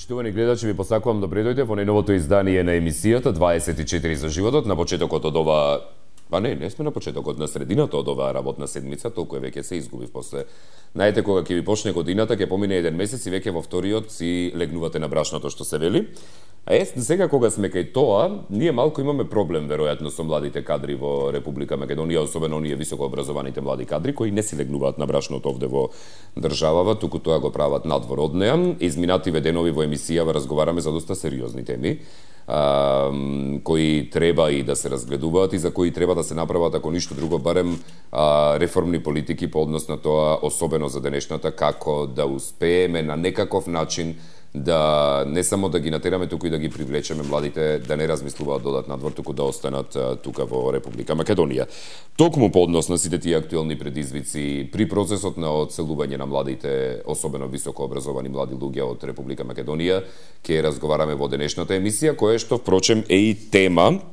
Почитувани гледачи, ви посакувам добре дојде во најновото издание на емисијата 24 за животот. На почетокот од ова, не сме на почетокот, на средината од оваа работна седмица, толку веќе се изгубив после. Знаете, кога ќе ви почне годината, ќе помине еден месец и веќе во вториот си легнувате на брашното, што се вели. А сега кога сме кај тоа, ние малку имаме проблем веројатно со младите кадри во Република Македонија, особено оние високо образованите млади кадри кои не си легнуваат на брашното овде во државава, туку тоа го прават надвор од неа. Изминативе денови во емисијава разговараме за доста сериозни теми, кои треба и да се разгледуваат и за кои треба да се направат, ако ништо друго, барем реформни политики по однос на тоа, особено за денешната, како да успееме на некаков начин да не само да ги натераме, туку и да ги привлечеме младите да не размислуваат додат надвор, туку да останат тука во Република Македонија. Токму по однос на сите тие актуелни предизвици при процесот на одселување на младите, особено високо образовани млади луѓе од Република Македонија, ќе разговараме во денешната емисија, која што впрочем е и тема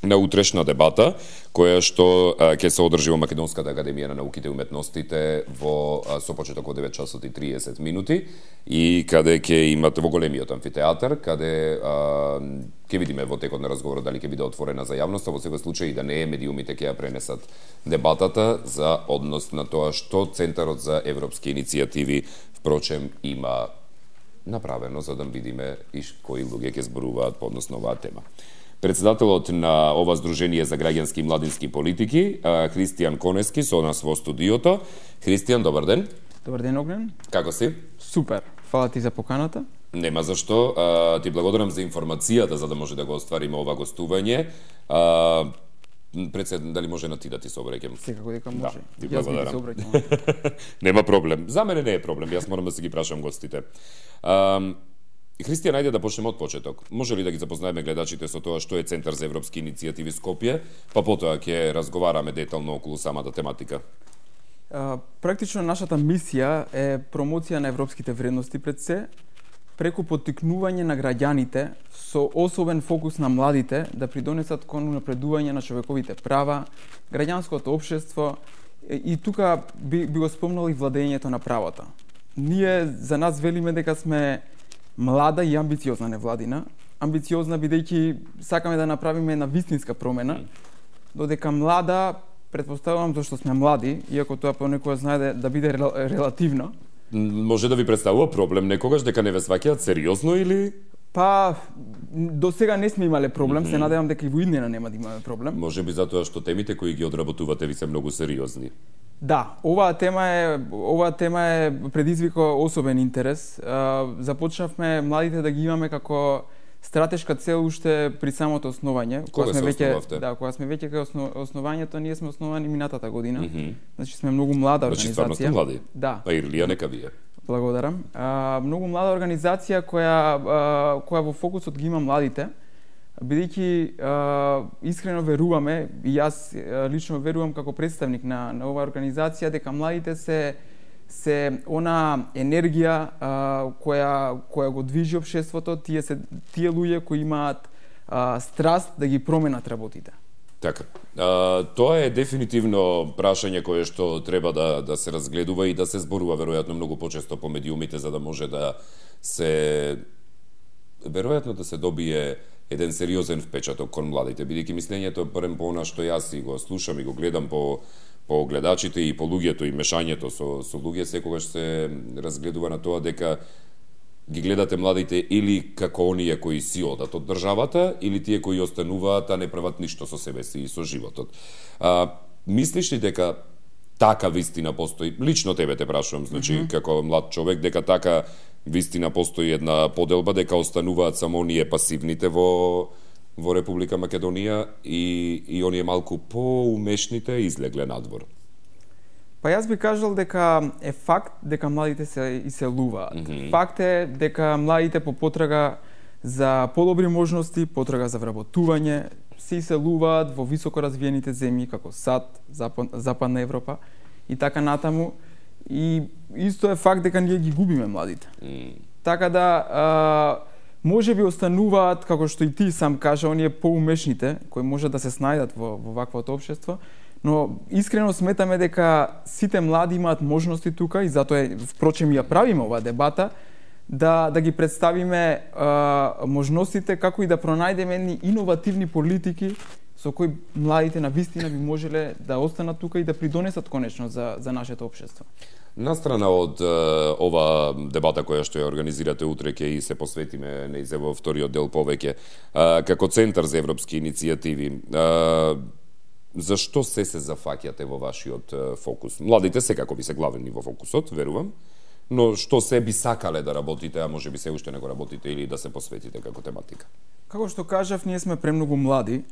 на утрешна дебата, која што ќе се одржи во Македонската академија на науките и уметностите со почеток од 9 часот и 30 минути и каде ќе имате во големиот амфитеатар, каде ќе видиме во текот на разговорот дали ќе биде отворена за јавноста, во секој случај да не е, медиумите ќе ја пренесат дебатата за однос на тоа што Центарот за европски иницијативи впрочем има направено за да видиме и кои луѓе ќе зборуваат по однос на оваа тема. Председателот на ова Сдружение за граѓански и младински политики, Христијан Конески, со нас во студиото. Христијан, добар ден. Добар ден, Огнен. Како си? Супер. Фала ти за поканата. Нема зашто. Ти благодарам за информацијата за да може да го оствариме ова гостување. Дали може на ти да ти се обраќам? Секако дека може. Да, ти благодарам. Јас би ти се обраќам. Нема проблем. За мене не е проблем. Јас морам да се ги прашам гостите. Христијан, ајде да почнеме од почеток. Може ли да ги запознаеме гледачите со тоа што е Центар за европски иницијативи Скопје, па потоа ќе разговараме детално околу самата тематика? Практично нашата мисија е промоција на европските вредности пред се, преку поттикнување на граѓаните со особен фокус на младите да придонесат кон унапредување на човековите права, граѓанското општество и тука би го спомнал и владењето на правото. Ние за нас велиме дека сме млада и амбициозна невладина. Амбициозна бидејќи сакаме да направиме една вистинска промена, додека млада, претпоставувам зашто сме млади, иако тоа понекогаш знае да биде релативно. Може да ви представува проблем некогаш дека не ве сваќаат сериозно или? Па, до сега не сме имале проблем, се надевам дека и во иднина нема да имаме проблем. Може би затоа што темите кои ги одработувате ви се многу сериозни. Да, оваа тема е предизвика особен интерес. Започнавме младите да ги имаме како стратешка цел уште при самото основање. Кога се основавте? Да, кога сме веќе кај основањето, ние сме основани минатата година. Значи сме многу млада организација. Значи стварно сте млади. Да. А Ирлија нека вие. Благодарам. Многу млада организација која во фокусот ги има младите, бидејќи искрено веруваме, и јас лично верувам како представник на оваа организација, дека младите се она енергија која го движи општеството, тие луѓе кои имаат страст да ги променат работите. Така. Тоа е дефинитивно прашање кое што треба да се разгледува и да се зборува веројатно многу почесто по медиумите за да може да се веројатно да се добие еден сериозен впечаток кон младите, бидејќи мислењето е барем по она што јас и го слушам и го гледам по гледачите и по луѓето и мешањето со луѓе, секогаш се разгледува на тоа дека ги гледате младите или како оние кои си одат од државата, или тие кои остануваат, а не прават ништо со себе си и со животот. Мислиш ли дека така вистина постои? Лично тебе те прашувам, значи, како млад човек, дека така вистина постои една поделба, дека остануваат само оние пасивните во Република Македонија и оние малку поумешните излегле надвор? Па јас би кажал дека е факт дека младите се иселуваат. Факт е дека младите по потрага за подобри можности, потрага за вработување, се иселуваат во високо развиените земји како САД, Западна Европа и така натаму. И исто е факт дека ние ги губиме младите. Така да може би остануваат, како што и ти сам кажа, оние поумешните кои можат да се снајдат во ваквото општество, но искрено сметаме дека сите млади имаат можности тука и затоа впрочем ја правиме оваа дебата да ги представиме можностите како и да пронајдеме едни иновативни политики со кои младите на вистина би можеле да останат тука и да придонесат конечно за нашето општество. Настрана од ова дебата која што ја организирате утре, ќе и се посветиме во вториот дел повеќе, како Центар за европски иницијативи, зашто се зафаќате во вашиот фокус? Младите секако би се главни во фокусот, верувам, но што се би сакале да работите, а може би се уште не го работите или да се посветите како тематика? Како што кажав, ние сме премногу млади.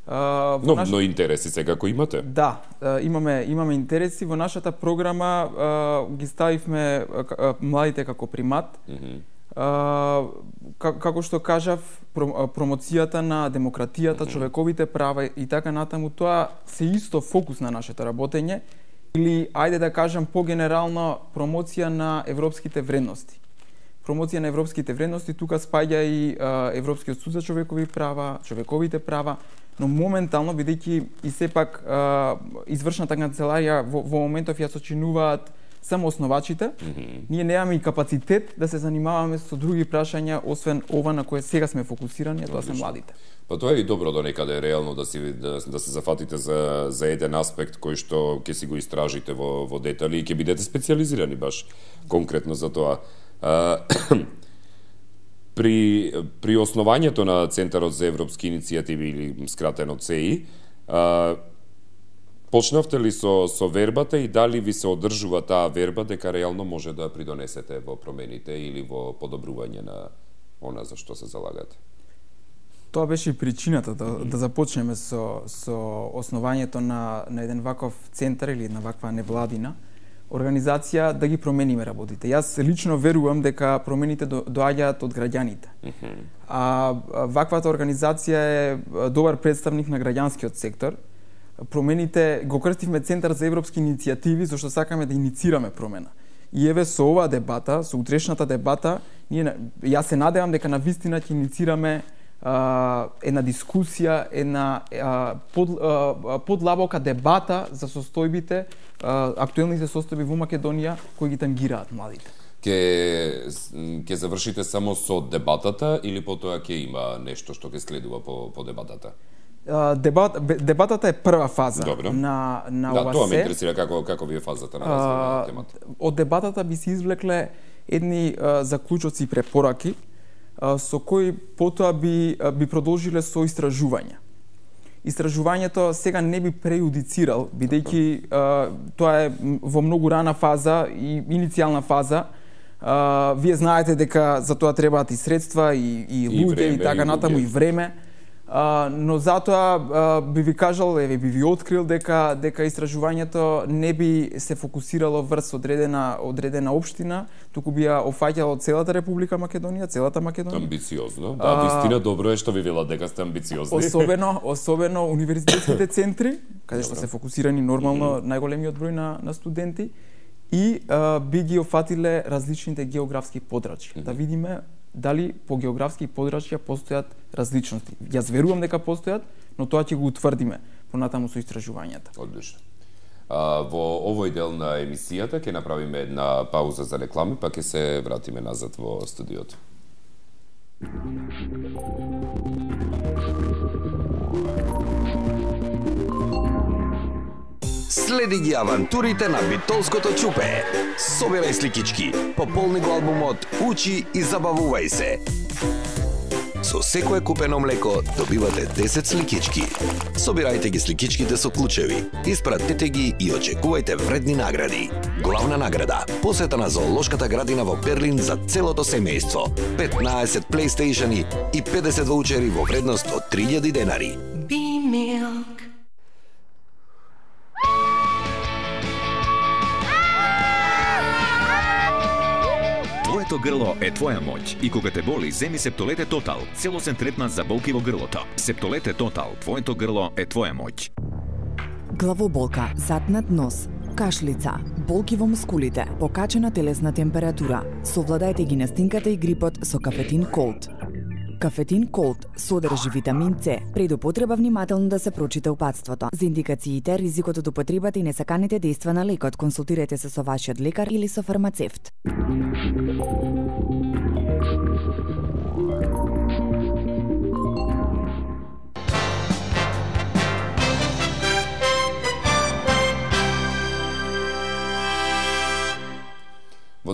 Но интереси секако имате? Да, имаме интереси. Во нашата програма ги ставивме младите како примат. Како што кажав, промоцијата на демократијата, човековите права и така натаму, тоа се исто фокус на нашето работење. Или, ајде да кажам по-генерално, промоција на европските вредности. Промоција на европските вредности, тука спаѓа и Европскиот суд за човековите права, но моментално, бидејќи и сепак извршната канцеларија во моментов ја сочинуваат само основачите, ние немаме и капацитет да се занимаваме со други прашања, освен ова на кое сега сме фокусирани, а тоа се младите. Па тоа е и добро до некаде реално да се зафатите за еден аспект кој што ќе си го истражите во детали и ќе бидете специјализирани баш конкретно за тоа. При основањето на Центарот за европски иницијативи или скратено ЦЕИ, почнавте ли со вербата и дали ви се одржува таа верба дека реално може да придонесете во промените или во подобрување на она за што се залагате? Тоа беше и причината да започнеме со основањето на еден ваков центар или една ваква невладина организација да ги промениме работите. Јас лично верувам дека промените доаѓаат од граѓаните. А ваквата организација е добар представник на граѓанскиот сектор. Промените го крстивме Центар за европски иницијативи зашто сакаме да иницираме промена. И еве со оваа дебата, со утрешната дебата, јас се надевам дека навистина ќе иницираме една дискусија, една подлабока дебата за состојбите, актуелните состојби во Македонија кои ги тангираат младите. Ќе завршите само со дебатата или потоа ќе има нешто што ќе следува по дебатата? Дебатата е прва фаза на ова се. Тоа ме интересира како ви е фазата на развој на темата. Од дебатата би се извлекле едни заклучоци и препораки со кои потоа би продолжиле со истражување. Истражувањето сега не би прејудицирал, бидејќи тоа е во многу рана фаза и иницијална фаза. Вие знаете дека за тоа требаат и средства, и луѓе, и така натаму, и време. Но затоа би ви кажал, би ви открил дека истражувањето не би се фокусирало врз одредена општина, туку би ја офаќало целата Република Македонија, целата Македонија. Амбициозно. Да, вистина добро е што ви велат дека сте амбициозни. Особено универзитетските центри, каде што се фокусирани нормално најголемиот број на студенти, и би ги офатиле различните географски подрачја. Да видиме дали по географски подрачја постојат различности. Јас верувам дека постојат, но тоа ќе го утврдиме понатаму со истражувањата. Одлично. Во овој дел на емисијата ќе направиме една пауза за реклами, па ќе се вратиме назад во студиото. Следи ги авантурите на битолското чупе. Собирај сликички, пополни го албумот, учи и забавувај се. Со секое купено млеко добивате 10 сликички. Собирајте ги сликичките со клучеви, испратете ги и очекувајте вредни награди. Главна награда – посета на зоолошката градина во Берлин за целото семејство, 15 PlayStation-и и 50 ваучери во вредност од 3000 денари. B-Milk. Твоето грло е твоја моќ и кога те боли, земи Септолете Тотал, целосен третман за болки во грлото. Септолете Тотал, твоето грло е твоја моќ. Главоболка, затнат нос, кашлица, болки во мускулите, покачена телесна температура. Совладајте ги настинката и грипот со Кафетин Колд. Кафетин Колд содржи витамин С. Пред употреба внимателно да се прочита упатството. За индикациите, ризикот од употребата и несаканите дејства на лекот, консултирайте се со вашиот лекар или со фармацевт. Во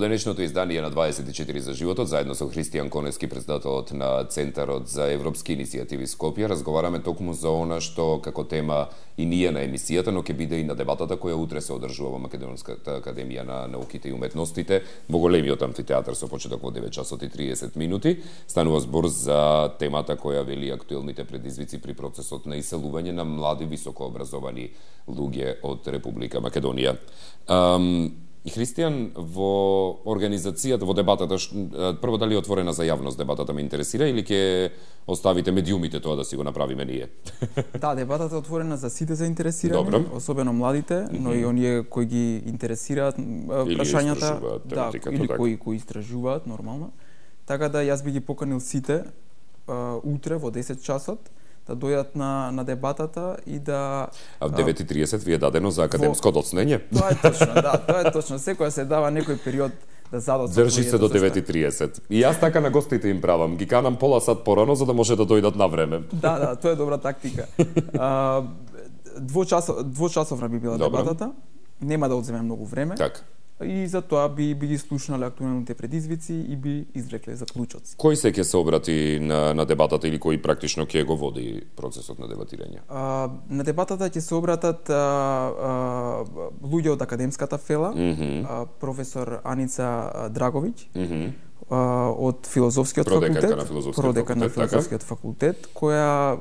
денешното издание на 24 за животот, заедно со Христијан Коневски, председателот на Центарот за европски иницијативи Скопје, разговараме токму за она што како тема и ние на емисијата, но ќе биде и на дебатата која утре се одржува во Македонската академија на науките и уметностите, во големиот амфитеатар со почеток во 9 часот и 30 минути. Станува збор за темата која вели актуелните предизвици при процесот на иселување на млади високообразовани луѓе од Република Македонија. Христијан, во организацијата, во дебатата, прво дали е отворена за јавност дебатата ме интересира или ќе оставите медиумите тоа да си го направиме ние? Да, дебатата е отворена за сите заинтересирани, Добро. особено младите, но и оние кои ги интересираат прашањата, или кои истражуваат нормално. Така да јас би ги поканил сите утре во 10 часот да дојдат на дебатата и да... А в 9:30 ви е дадено за академско доцнење? Тоа е точно, да, тоа е точно. Секоја се дава некој период да задоцне. Држи се до 9:30. И јас така на гостите им правам. Ги канам пола сат порано за да може да дојдат на време. Да, тоа е добра тактика. Двочасовна би била дебатата. Нема да одземе многу време. Така. И за тоа би ги слушнале актуелните предизвици и би извлекле заклучоци. Кој се ќе се обрати на дебатата или кој практично ќе го води процесот на дебатирање? На дебатата ќе се обратат луѓе од академската фела, професор Аница Драговиќ, од филозофскиот факултет, продекан на филозофскиот факултет, која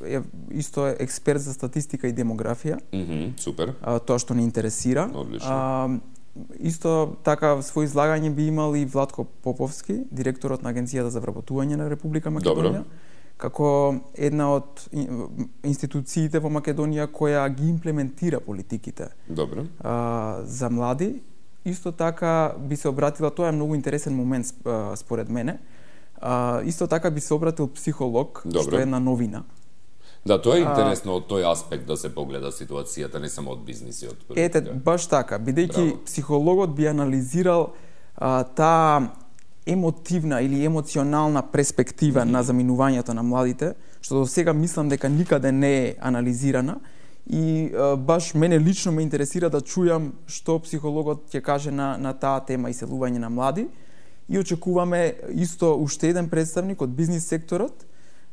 е исто експерт за статистика и демографија. Супер. Тоа што не интересира. Одлично. Исто така свој излагање би имал и Владко Поповски, директорот на Агенцијата за вработување на Република Македонија, како една од институциите во Македонија која ги имплементира политиките за млади. Исто така би се обратила, тоа е многу интересен момент според мене, исто така би се обратил психолог, што е една новина. Да, тоа е интересно од тој аспект да се погледа ситуацијата, не само од бизнисиот. Ете, баш така, бидејќи психологот би анализирал таа емотивна или емоционална перспектива на заминувањето на младите, што до сега мислам дека никаде не е анализирана, и баш мене лично ме интересира да чујам што психологот ќе каже на таа тема иселување на млади, и очекуваме исто уште еден представник од бизнис секторот,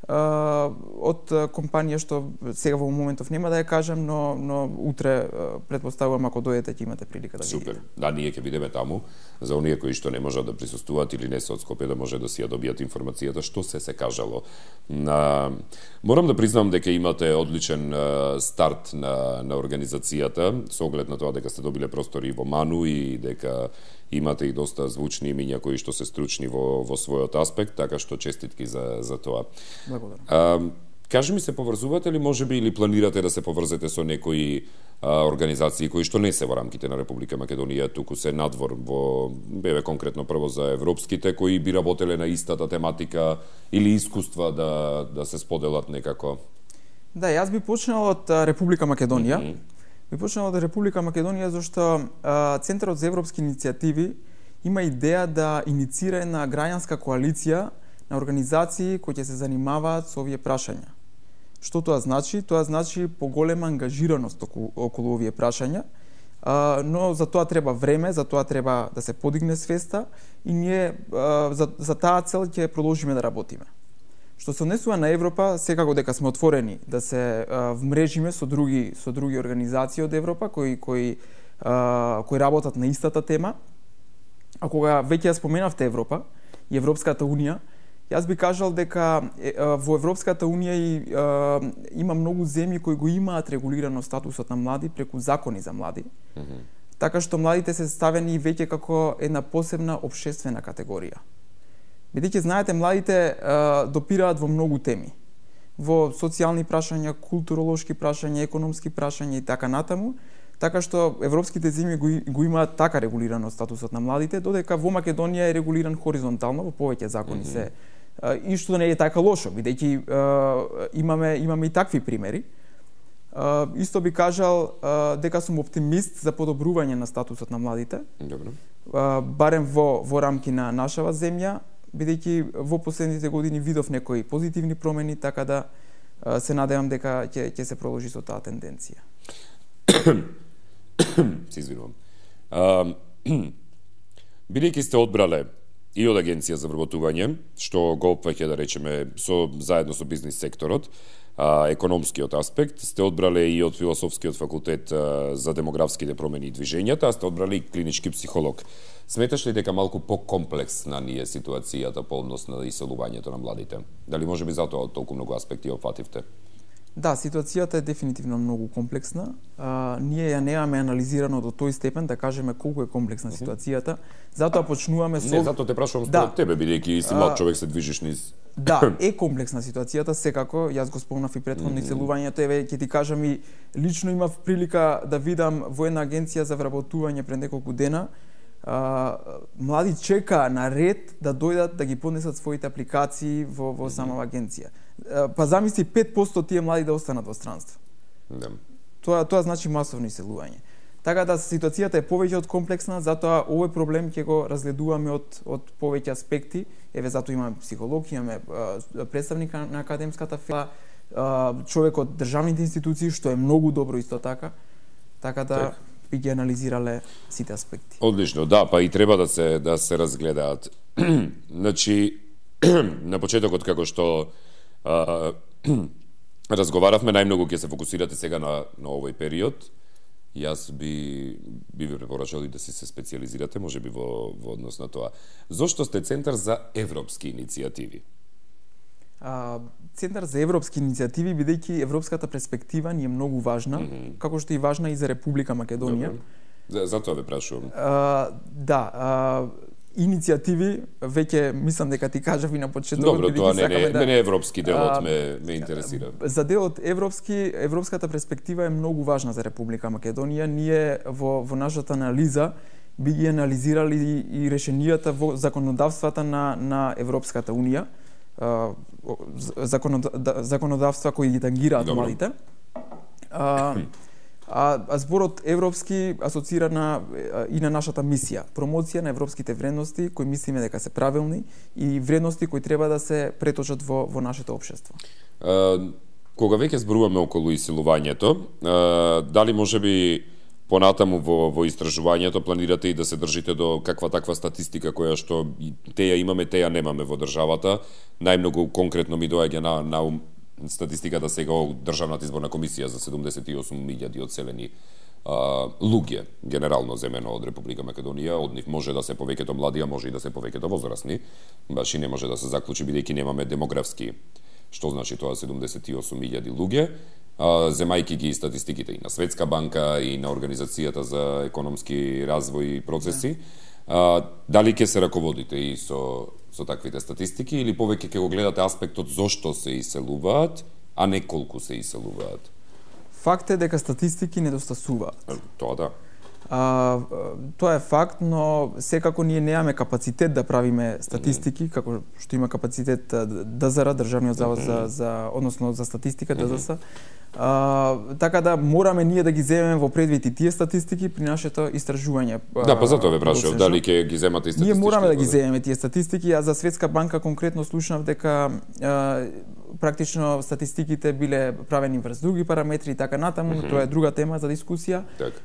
од компанија што сега во моментов нема да ја кажам, но утре претпоставувам ако дојдете ќе имате прилика да видите. Супер. Да, ние ќе бидеме таму за оние кои што не можат да присуствуваат или не се од Скопје, да може да си ја добијат информацијата што се кажало. Морам да признам дека имате одличен старт на организацијата, со оглед на тоа дека сте добиле простори во Ману и дека имате и доста звучни имиња кои што се стручни во својот аспект, така што честитки за тоа. Благодарам. Кажи ми, се поврзувате ли можеби или планирате да се поврзете со некои организации кои што не се во рамките на Република Македонија, туку се надвор во конкретно прво за европските кои би работеле на истата тематика или искуства да се споделат некако? Да, јас би почнал од Република Македонија. Би почнал од Република Македонија зашто Центарот за европски иницијативи има идеја да иницира една граѓанска коалиција на организации кои ќе се занимаваат со овие прашања. Што тоа значи? Тоа значи поголема ангажираност околу овие прашања, но за тоа треба време, за тоа треба да се подигне свеста и ние за таа цел ќе продолжиме да работиме. Што се однесува на Европа, секако дека сме отворени да се вмрежиме со други организации од Европа кои работат на истата тема. А кога веќе ја споменавте Европа и Европската унија, јас би кажал дека во Европската унија има многу земји кои го имаат регулирано статусот на млади преку закони за млади. Така што младите се ставени веќе како една посебна општествена категорија. Бидејќи знаете, младите допираат во многу теми. Во социјални прашања, културолошки прашања, економски прашања и така натаму. Така што европските земји го имаат така регулирано статусот на младите, додека во Македонија е регулиран хоризонтално, во повеќе закони се. И што не е така лошо, бидејќи имаме и такви примери. Исто би кажал дека сум оптимист за подобрување на статусот на младите. Добро. Барем во рамки на нашава земја, бидејќи во последните години видов некои позитивни промени, така да се надевам дека ќе се продолжи со таа тенденција. Се извинувам. Бидејќи сте одбрале и од Агенција за вработување, што го опфаќа, да речеме, заедно со бизнис секторот, економскиот аспект, сте одбрале и од Философскиот факултет за демографските промени и движењата, а сте одбрале и клинички психолог. Сметаш ли дека малку покомплексна ни е ситуацијата по однос на иселувањето на младите? Дали може би затоа од толку многу аспекти опфативте? Да, ситуацијата е дефинитивно многу комплексна. Ние ја немаме анализирано до тој степен да кажеме колку е комплексна ситуацијата. Затоа почнуваме со... Не, затоа те прашувам според тебе, бидејќи си млад човек, се движиш низ... Да, е комплексна ситуацијата, секако. Јас го спомнав и претходно иселувањето. Еве, ќе ти кажам и лично имав прилика да видам во една агенција за вработување пред неколку дена. Млади чекаа на ред да дојдат да ги поднесат своите апликации во самава агенција. Па замисли 5% тие млади да останат во странство. Да. Тоа значи масовно иселување. Така да ситуацијата е повеќе од комплексна, затоа овој проблем ќе го разгледуваме од повеќе аспекти. Еве, затоа имаме психолог, имаме представник на академската фила, човек од државните институции, што е многу добро исто така. Така да би ги анализирале сите аспекти. Одлично, да, па и треба да се разгледаат. Значи, на почетокот како што разговаравме, најмногу ќе се фокусирате сега на овој период. Јас би ви препорачал и да се специализирате, може би во однос на тоа. Зошто сте Центар за европски иницијативи? Центар за европски иницијативи, бидејќи европската перспектива ни е многу важна, како што и важна и за Република Македонија. Затоа ве прашувам. Иницијативи, веќе мислам дека ти кажав и на почетокот. Добро, тоа не е европски делот, ме интересира. За делот европската перспектива е многу важна за Република Македонија. Ние во нашата анализа би ги анализирали и решенијата во законодавствата на Европската Унија, законодавства кои ги тангираат младите. А зборот европски асоцира и на нашата мисија, промоција на европските вредности кои мислиме дека се правилни и вредности кои треба да се преточат во нашето општество. Кога веќе зборуваме околу иселувањето, дали можеби понатаму во истражувањето планирате и да се држите до каква таква статистика која што теја имаме, теја немаме во државата? Најмногу конкретно ми доаѓа на ум статистиката сега од Државната изборна комисија за 78.000 одселени луѓе, генерално земено од Република Македонија. Од нив може да се повеќето млади, а може и да се повеќето возрастни. Баш и не може да се заклучи, бидејќи немаме демографски, што значи тоа 78.000 луѓе. Земајки ги статистиките и на Светска банка и на Организацијата за економски развој и процеси, дали ќе се раководите и со таквите статистики или повеќе ќе го гледате аспектот зошто се иселуваат, а не колку се иселуваат? Факт е дека статистики недостасуваат. Тоа да. Тоа е факт, но секако ние немаме капацитет да правиме статистики, како што има капацитет ДЗР, Државниот завод односно за статистика, ДЗС. Така да мораме ние да ги земеме во предвид и тие статистики при нашето истражување. Да, па затоа ве прашував дали ќе ги земате и статистики. Ние мораме да ги земеме тие статистики, а за Светска банка конкретно слушнав дека практично статистиките биле правени врз други параметри и така натаму, тоа е друга тема за дискусија.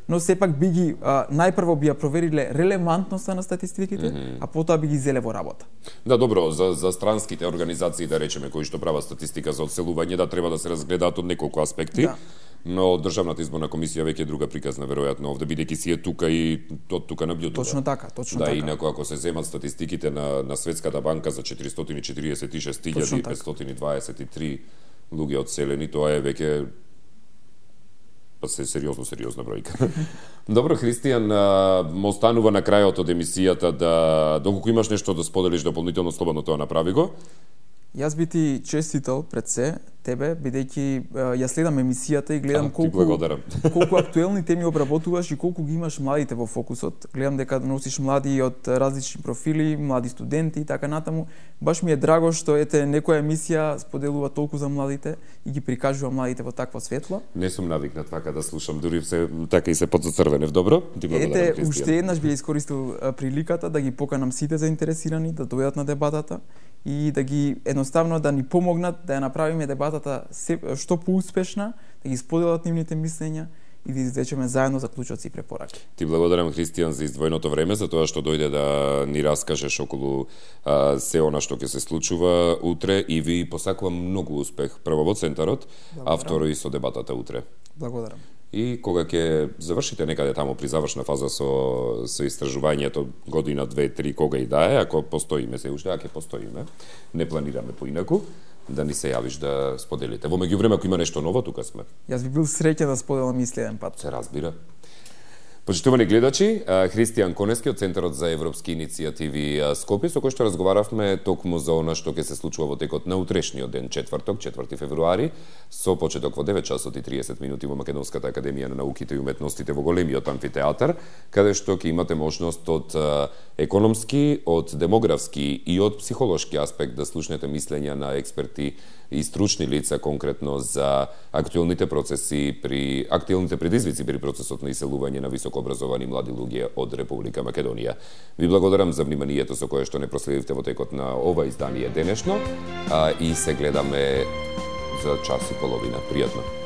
Но сепак би ги најпрво би ја провериле релевантноста на статистиките, а потоа би ги зеле во работа. Да, добро, за странските организации, да речеме, кои што прават статистика за одселување, да треба да се разгледаат од неколку аспекти. Да. Но Државната изборна комисија веќе е друга приказна, веројатно овде, бидејќи си е тука и од тука наблюдува. Точно така. Да, инаку ако се земат статистиките на Светската банка за 446.523 луѓе одселени, тоа е веќе сериозна бројка. Добро, Христијан, мо останува на крајот од емисијата доколку имаш нешто да споделиш дополнително, слободно тоа направи го. Јас би ти честитал пред се тебе, бидејќи ја следам емисијата и гледам колку актуелни теми обработуваш и колку ги имаш младите во фокусот. Гледам дека носиш млади од различни профили, млади студенти и така натаму. Баш ми е драго што ете некоја емисија споделува толку за младите и ги прикажува младите во таква светло. Не сум навикнат така да слушам, дури се така и се подзацрвенев. Добро? Ти благодарам, Ете, уште еднаш би искористил приликата да ги поканам сите заинтересирани да дојдат на дебатата и да ги едноставно да ни помогнат да ја направиме дебатата што поуспешна, да ги споделат нивните мислења и да извлечеме заедно заклучоци и препораки. Ти благодарам, Христијан, за издвоеното време, за тоа што дојде да ни раскажеш околу се она што ќе се случува утре и ви посакувам многу успех прво во центарот, а второ и со дебатата утре. Благодарам. И кога ќе завршите некаде таму при завршна фаза со истражувањето, година, 2, 3, кога и да е, ако постоиме се уште, ако постоиме, не планираме поинаку, да ни се јавиш да споделите. Во меѓувреме, ако има нешто ново, тука сме. Јас би бил среќен да споделам и следен пат. Се разбира. Почитувани гледачи, Христијан Конески од Центарот за европски иницијативи Скопје, со кој што разговаравме токму за она што ќе се случува во текот на утрешниот ден, четврток, 4 февруари, со почеток во 9 часот и 30 минути во Македонската академија на науките и уметностите во големиот амфитеатар, каде што ќе имате можност од економски, од демографски и од психолошки аспект да слушнете мислења на експерти и стручни лица конкретно за актуелните процеси актуелните предизвици при процесот на иселување на високообразовани млади луѓе од Република Македонија. Ви благодарам за вниманието со кое што не проследивте во текот на ова издание денешно и се гледаме за час и половина. Пријатно.